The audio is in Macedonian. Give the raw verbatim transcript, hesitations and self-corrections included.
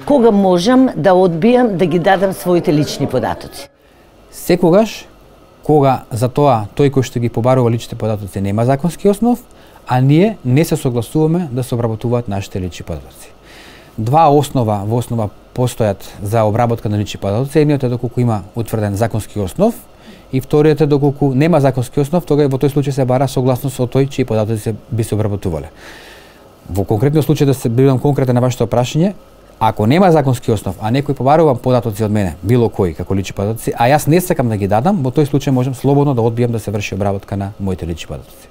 кога можам да одбијам да ги дадам своите лични податоци? Секогаш кога за тоа тој кој што ги побарува личните податоци нема законски основ, а ние не се согласуваме да се обработуваат нашите лични податоци. Два основа во основа постојат за обработка на лични податоци. Едниот е доколку има утврден законски основ и вториот е доколку нема законски основ, тога во тој случај се бара согласност од тој чии податоци се би се обработувале. Во конкретниот случај, да се бидам конкретен на вашето прашање, ако нема законски основ, а некој побарува податоци од мене, било кој како лични податоци, а јас не сакам да ги дадам, во тој случај можам слободно да одбијам да се врши обработка на моите лични податоци.